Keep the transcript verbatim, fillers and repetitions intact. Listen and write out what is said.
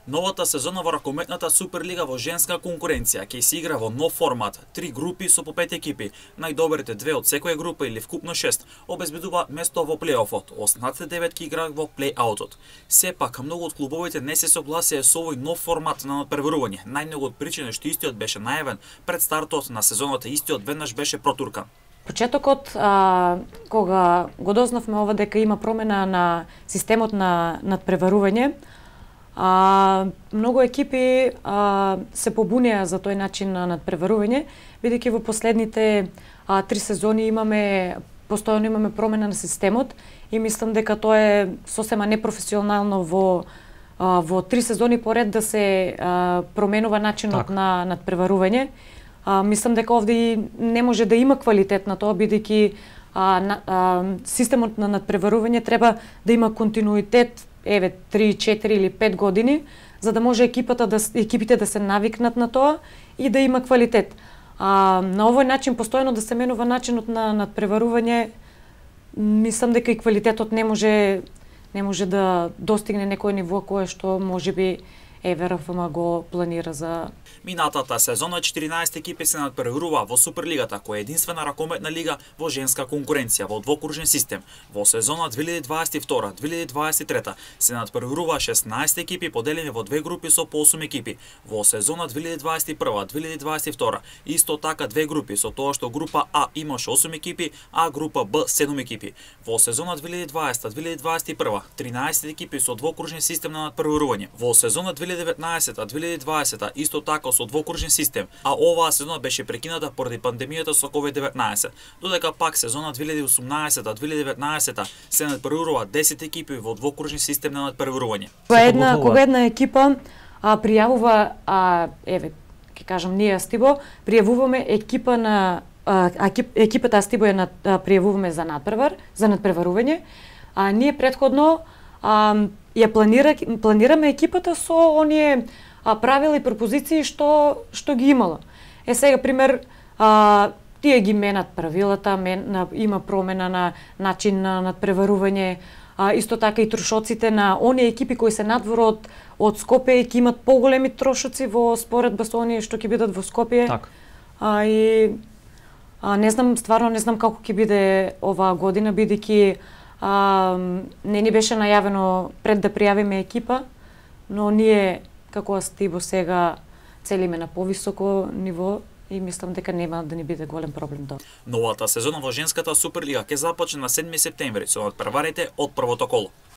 Новата сезона во ракометната Суперлига во женска конкуренција ќе се игра во нов формат, три групи со по пет екипи. Најдобрите две од секоја група или вкупно шест обезбедуваат место во плейофот, останатите девет ќе играат во плейаутот. Сепак, многу од клубовите не се согласија со овој нов формат на надпреварување. Најмногу од причина што истиот беше најавен пред стартот на сезоната, истиот веднаш беше протуркан. Почетокот, а, кога го дознавме ова дека има промена на системот на надпреварување, а, многу екипи а, се побунеа за тој начин на надпреварување, бидејќи во последните а, три сезони имаме постојано имаме промена на системот и мислам дека тоа е сосема непрофесионално во а, во три сезони поред да се а, променува начинот так. на надпреварување. А, мислам дека овде не може да има квалитет на тоа, бидејќи а, на, а, системот на надпреварување треба да има континуитет, еве три, четири или пет години, за да може екипата да екипите да се навикнат на тоа и да има квалитет. А, на овој начин постојано да се менува начинот на надпреварување, мислам дека и квалитетот не може не може да достигне некој ниво кое што можеби Еве РФМ го планира за Минатата сезона четиринаесет екипи се надпреварува во Суперлигата, која е единствена ракометна лига во женска конкуренција во двокружен систем. Во сезона две илјади дваесет и втора две илјади дваесет и трета се надпреварува шеснаесет екипи поделени во две групи со по осум екипи. Во сезона две илјади дваесет и прва две илјади дваесет и втора исто така две групи, со тоа што група А имаше осум екипи, а група Б седум екипи. Во сезона две илјади дваесета две илјади дваесет и прва тринаесет екипи со двокружен систем на надпреварување. Во сезона две илјади деветнаесета две илјади дваесета исто така со двокружен систем, а оваа сезона беше прекината поради пандемијата со ковид деветнаесет. Додека пак сезона две илјади осумнаесета две илјади деветнаесета се надпреварува десет екипи во двокружен систем на надпреварување. Кога една кога една екипа а, пријавува, а, еве, ќе кажам ние Астибо, пријавуваме екипа на а, екип, екипата Астибо е на а, пријавуваме за надпревар, за надпреварување, а ние претходно а, ја планира планираме екипата со оние а, правила и пропозиции што што ги имала. Е сега пример, а, тие ги менат правилата, мен, на, има промена на начин на надпреварување, а, исто така и трошоците на оние екипи кои се надвор од од Скопје ќе имат поголеми трошоци во споредба со оние што ќе бидат во Скопје. Так. А, и а, не знам, стварно не знам како ќе биде оваа година, бидејќи а, не ни беше најавено пред да пријавиме екипа, но ние како Астибо сега целиме на повисоко ниво и мислам дека нема да ни биде голем проблем тоа. Новата сезона во женската Суперлига ќе започне на седми септември со надпреварите од првото коло.